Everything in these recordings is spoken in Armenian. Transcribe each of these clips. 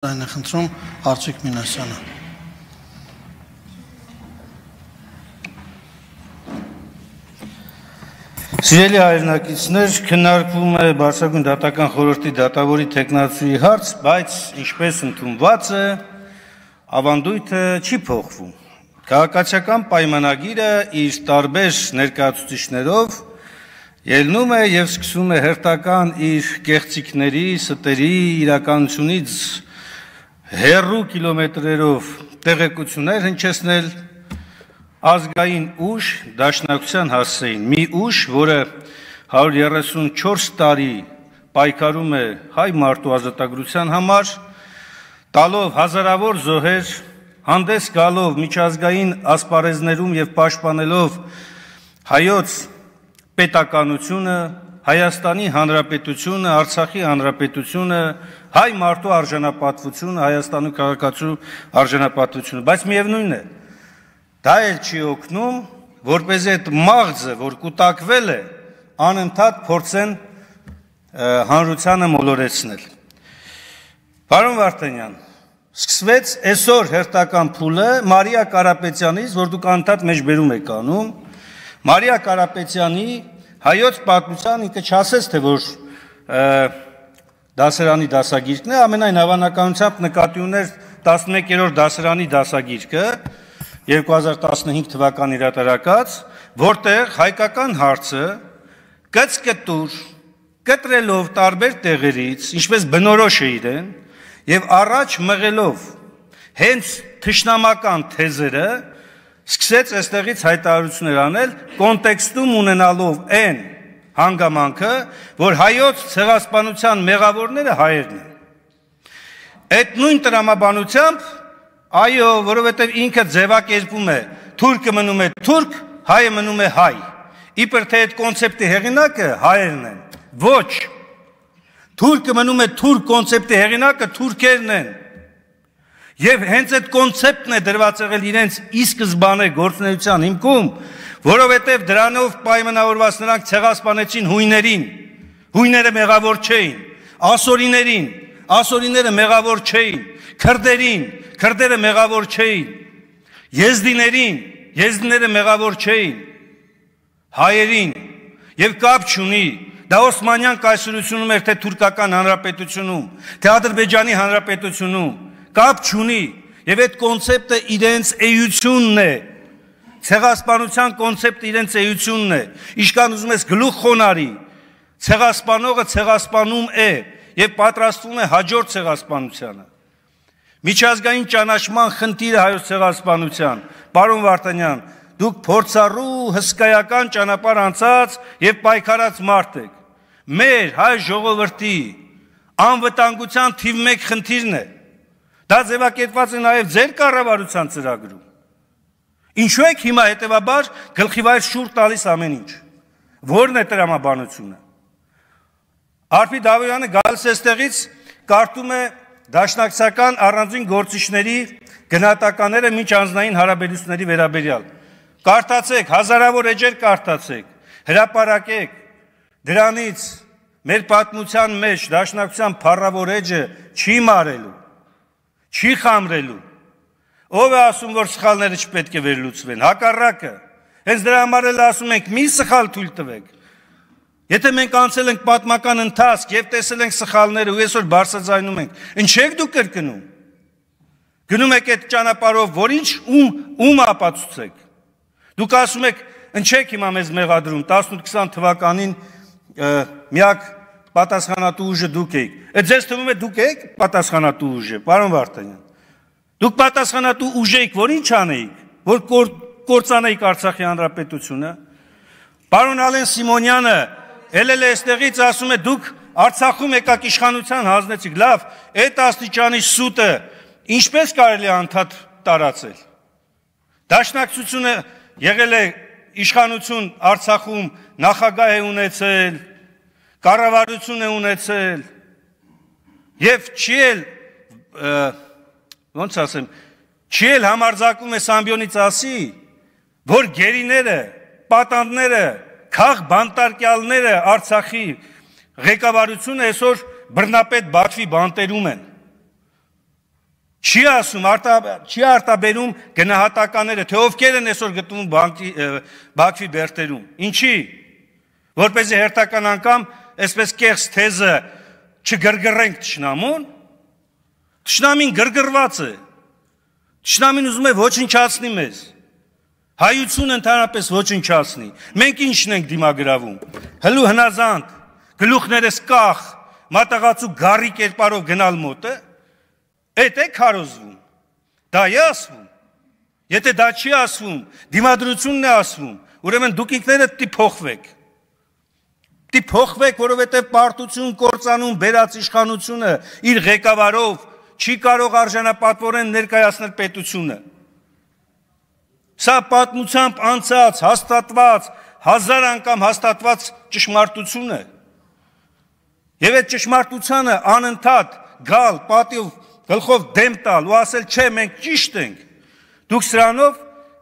Այն է խնդրում Արծիկ Մինասյանը։ Սիրելի հայրենակիցներ, քննարկվում է Բարձրագույն դատական խորհրդի դատավորի թեկնածուի հարց, բայց ինչպես ընդունված է, ավանդույթը չի փոխվում։ Քաղաքացիական պայմանագիրը իր տարբեր ներկայացուցիչներով ելնում է եւ սկսում է հերթական իր կեղծիքների, ստերի, իրականությունից հեռու կիլոմետրերով տեղեկություններ հնչեցնել ազգային ուժ դաշնակցության հասցեին, մի ուժ, որը 134 տարի պայքարում է հայ մարդու ազատագրության համար, տալով հազարավոր զոհեր, հանդես գալով միջազգային ասպարեզներում եւ պաշտպանելով հայոց պետականությունը, Հայաստանի Հանրապետությունը, Արցախի Հանրապետությունը, հայ մարդու արժանապատվությունը, Հայաստանի քաղաքացու արժանապատվությունը, բայց միևնույն է, դա էլ չի օգնում, որպեսզի այդ մաղձը, որ կուտակվել է, անընդհատ փորձեն հանրությանը մոլորեցնել։ Պարոն Վարդանյան, սկսվեց այսօր հերթական փուլը Մարիա Կարապետյանից, որ դուք անընդհատ մեջբերում եք անում, Մարիա Կարապետյանի հայոց պատմության ինքը չասեց, թե որ դասարանի դասագիրքն է, ամենայն հավանականությամբ նկատի ուներ 11-րդ դասարանի դասագիրքը 2015 թվականի հրատարակած, որտեղ հայկական հարցը կծկտուր, կտրելով տարբեր տեղերից, ինչպես բնորոշ է իրեն, եւ առաջ մղելով հենց թշնամական թեզերը, սկսեց այստեղից հայտարարություններ անել, կոնտեքստում ունենալով այն հանգամանքը, որ հայոց ցեղասպանության մեղավորները հայերն են։ Այդ նույն տրամաբանությամբ, այո, որովհետև ինքը ձևակերպում է, թուրքը մնում է թուրք, հայը մնում է հայ։ Իբր թե այդ կոնցեպտի հեղինակը հայերն են։ Ոչ։ Թուրքը մնում է թուրք կոնցեպտի հեղինակը թուրքերն են։ Եվ հենց այդ կոնցեպտն է դրված եղել իրենց ի սկզբանե գործունեության հիմքում, որովհետև դրանով պայմանավորված նրանք ցեղասպանեցին հույներին, հույները մեղավոր չէին, ասորիները մեղավոր չէին, քրդերին, քրդերը մեղավոր չէին, եզդիները մեղավոր չէին, հայերին, եւ կապ չունի, դա Օսմանյան կայսրությունում էր, թե թուրքական հանրապետությունում, թե Ադրբեջանի հանրապետությունում, կապ չունի, եւ այդ կոնցեպտը իրենց էությունն է, ցեղասպանության կոնցեպտը իրենց էությունն է, իշքան ուզում ես գլուխ խոնարի, ցեղասպանողը ցեղասպանում է եւ պատրաստվում է հաջորդ ցեղասպանությանը։ Միջազգային ճանաչման խնդիրը հայոց ցեղասպանության, պարոն Վարդանյան, դուք փորձառու հսկայական ճանապարհ անցած եւ պայքարած մարդ եք։ Մեր հայ ժողովրդի անվտանգության թիվ 1 խնդիրն է։ Դա ձևակերպված է նաև ձեր կառավարության ծրագրում։ Ինչու եք հիմա հետևաբար գլխիվայր շուռ տալիս ամեն ինչ։ Որն է տրամաբանությունը։ Արփի Դավոյանը գալիս էստեղից կարդում է դաշնակցական առանձին գործիչների գնահատականները մինչ անձնային հարաբերությունների վերաբերյալ։ Կարդացեք, հազարավոր էջեր կարդացեք, հրապարակեք։ Դրանից մեր պատմության մեջ դաշնակցության փառավոր էջը չի մարելու։ Չի խամրելու։ Ով է ասում, որ սխալները չպետք է վերլուծվեն, հակառակը։ Հենց դրա համար էլ ասում ենք, մի սխալ թույլ տվեք։ Եթե մենք անցել ենք պատմական ընթացք եւ տեսել ենք սխալները ու այսօր բարձրաձայնում ենք, ինչ եք դուք կրկնում։ Գնում եք այդ ճանապարհով, որ ինչ ում ապացուցեք։ Դուք ասում եք, ինչեք հիմա մեզ մեղադրում 18-20 թվականին միակ պատասխանատու ուժը դուք եք։ Այդ ձեզ թվում է դուք եք պատասխանատու ուժը, պարոն Վարդանյան։ Դուք պատասխանատու ուժ եք, որ ինչ անեիք, որ կործանեիք Արցախի հանրապետությունը։ Պարոն Ալեն Սիմոնյանը ելել է այստեղից ասում է դուք Արցախում եկաք իշխանության հանձնեցիք։ Լավ, այդ աստիճանի սուտը ինչպես կարելի է անդադ տարածել։ Դաշնակցությունը եղել է իշխանություն Արցախում, նախագահ է ունեցել, կառավարություն է ունեցել եւ չի էլ համարձակվում է Սամբյոնից ասի, որ գերիները, պատանդները, քաղ բանտարկյալները Արցախի ղեկավարությունը այսօր բռնապետ Բաքվի բանտերում են։ Չի ասում, չի արտաբերում գնահատականները, թե ովքեր են այսօր գտնվում Բաքվի բերտերում։ Ինչի, որպեսզի հերթական անգամ այսպես կեղծ թեզը չգրգռենք թշնամուն, թշնամին գրգռված է, թշնամին ուզում է ոչնչացնի մեզ, հայությունը ընդհանրապես ոչնչացնի, մենք ինչն ենք դիմագրավում, հլու հնազանդ, գլուխներս կախ, մատաղացու գարի կերպարով գնալ մոտը, Էդ է քարոզվում, դա է ասվում, եթե դա չի ասվում, դիմադրությունն է ասվում, ուրեմն դուք ինքներդ փոխվեք, որովհետև պարտություն կործանում բերած իշխանությունը իր ղեկավարով չի կարող արժանապատվորեն ներկայացնել պետությունը։ Սա պատմությամբ անցած, հաստատված, 1000 անգամ հաստատված ճշմարտություն է։ Եվ այդ ճշմարտությանը անընդհատ գալ, պատիվ գլխով դեմ տալ ու ասել չէ մենք ճիշտ ենք, դուք սրանով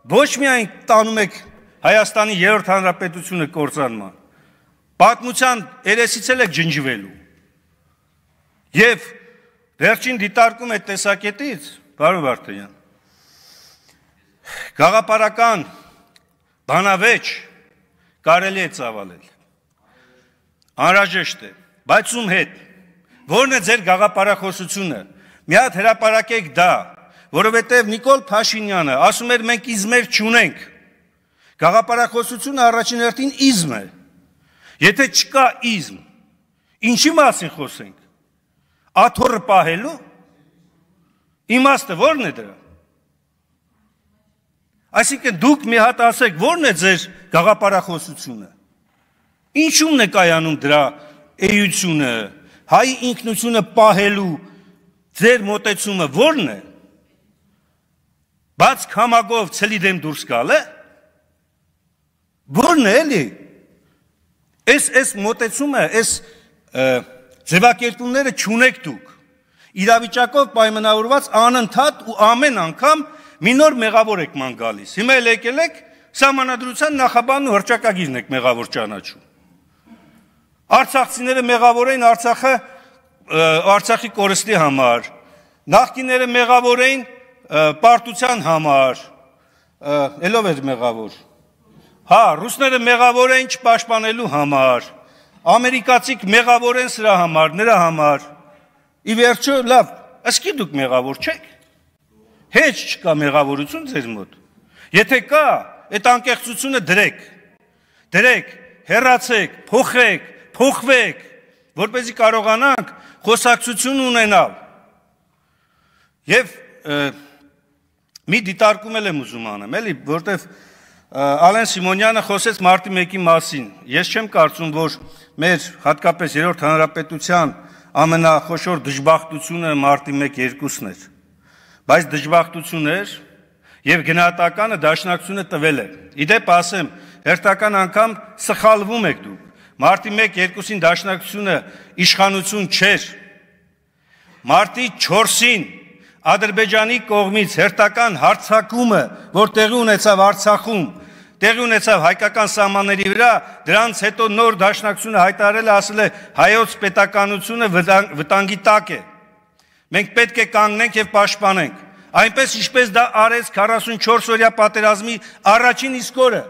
ոչ միայն տանում եք Հայաստանի 3-րդ հանրապետությունը կործանման, պատմության երեսից եք ջնջվելու։ Եվ վերջին դիտարկում այդ տեսակետից, պարոն Վարդանյան, գաղափարական բանավեճ կարելի է ծավալել, անհրաժեշտ է, բայց ում հետ, որն է ձեր գաղափարախոսությունը, մի հատ հրապարակեք դա, որովհետև Նիկոլ Փաշինյանը ասում էր մենք իզմեր չունենք, գաղափարախոսությունը առաջին հերթին իզմ է, եթե չկա իզմ, ինչի մասին խոսենք, աթոռը պահելու, իմաստը որն է դրա, այսինքն դուք մի հատ ասեք որն է ձեր գաղափարախոսությունը, ինչումն է կայանում դրա էությունը, հայի ինքնությունը պահելու ձեր մոտեցումը որն է, բաց քամագով ցելի դեմ դուրս գալ է, որն է էլի, այս մոտեցումը, այս ձևակերպումները չունեք դուք, իրավիճակով պայմանավորված անընդհատ ու ամեն անգամ մի նոր մեղավոր եք ման գալիս, հիմա էլ եկել եք սահմանադրության նախաբանն ու հռչակագիրն եք մեղավոր ճանաչում, արցախցիները մեղավոր էին Արցախի կորստի համար, նախկինները մեղավոր էին պարտության համար, ելով էր մեղավոր, հա, ռուսները մեղավոր էին չպաշտպանելու համար, ամերիկացիք մեղավոր են սրա համար, նրա համար, ի վերջո, լավ, ասկի դուք մեղավոր չեք, հեչ չկա մեղավորություն ձեր մոտ, եթե կա, այդ անկեղծությունը դրեք, հեռացեք, փոխվեք, որպեսզի կարողանանք խոսակցություն ունենալ և մի դիտարկում եմ ուզում անեմ, էլի, որտև Ալեն Սիմոնյանը խոսեց մարտի 1-ի մասին, ես չեմ կարծում, որ մեր հատկապես 3-րդ հանրապետության ամենախոշոր դժբախտությունը մարտի 1-2-ն էր, բայց դժբախտություն էր և գնահատականը դաշնակցությունը տվել է, իդեպ ասեմ, հերթական անգամ սխալվում եք դուք, Մարտի 1-2-ին դաշնակցությունը իշխանություն չէր, մարտի 4-ին Ադրբեջանի կողմից հերթական հարձակումը, որ տեղի ունեցավ Արցախում, տեղի ունեցավ հայկական սահմանների վրա, դրանց հետո նոր դաշնակցությունը հայտարարել է, ասել է հայոց պետականությունը վտանգի տակ է, մենք պետք է կանգնենք և պաշտպանենք, այնպես ինչպես դա արեց 44-օրյա պատերազմի առաջին իսկ օրը,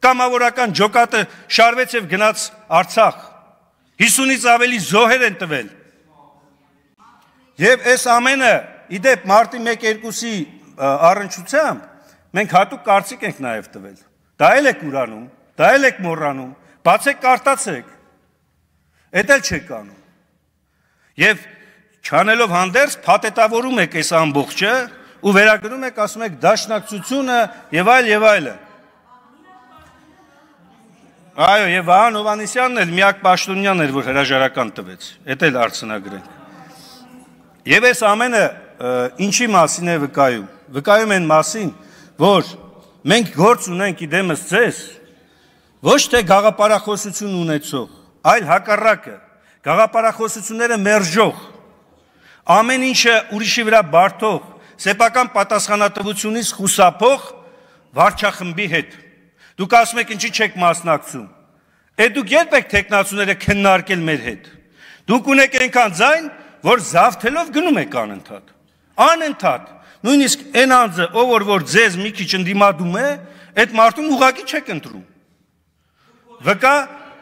կամավորական ջոկատը շարվեց և գնաց Արցախ, 50-ից ավելի զոհեր են տվել, և այս ամենը, իդեպ մարտի 1-2-ի առնչությամբ, մենք հատուկ կարծիք ենք նաև տվել, դա էլ եք ուրանում, դա էլ եք մոռանում, բացեք կարտացեք, էդ էլ չեք անում, և չանելով հանդերձ փաթեթավորում եք այս ամբողջը ու վերագրում եք, ասում եք դաշնակցությունը և այլը, Այո, և Վահան Հովհաննիսյանն էլ միակ պաշտոնյան էր, որ հրաժարական տվեց, էդ էլ արձնագրենք, և այս ամենը ինչի մասին է վկայում, վկայում են մասին, որ մենք գործ ունենք իդեմս ձեզ, ոչ թե գաղափարախոսություն ունեցող, այլ հակառակը, գաղափարախոսությունները մերժող, ամեն ինչը ուրիշի վրա բարդող, սեփական պատասխանատվությունից խուսափող վարչախմբի հետ, դուք ասում եք ինչի չեք մասնակցում, դուք երբ եք թեկնածուները քննարկել մեր հետ, դուք ունեք այնքան ձայն, որ զավթելով գնում եք անընդհատ, Անընդհատ, նույնիսկ այն անձը, ով որ ձեզ մի քիչ ընդդիմադում է, այդ մարդուն ուղղակի չեք ընտրում։ Վկա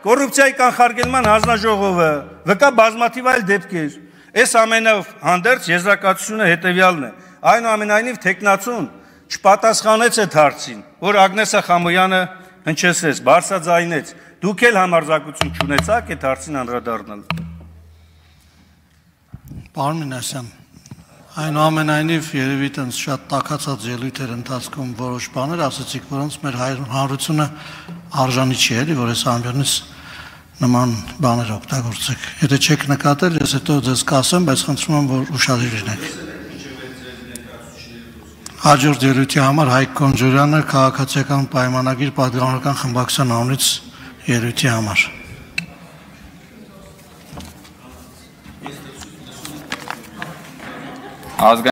կոռուպցիայի կանխարգելման հանձնաժողովը, վկա բազմաթիվ այլ դեպքեր։ Այս ամենով հանդերձ եզրակացությունը հետևյալն է։ Այնուամենայնիվ թեկնածուն չպատասխանեց այդ հարցին, որ Ագնեսա Խամոյանը հնչեցրեց, բարձրաձայնեց։ Դուք էլ համարձակություն չունեցաք այդ հարցին անդրադառնալ։ Պարոն Մինասյան, այնուամենայնիվ երևի տենց շատ տաքացած ելույթեր ընթացքում որոշ բաներ ասացիք, որոնց մեր հանրությունը արժանի չի էլի, որ այս ամբյոնից նման բաներ օգտագործեք։ Եթե չեք նկատել, ես հետո ձեզ կասեմ, բայց խնդրում եմ, որ ուշադիր լինեք։ Հաջորդ ելույթի համար Հայկ Կոնջորյանը քաղաքացիական պայմանագիր պատգամավորական խմբակցության անունից ելույթի համար։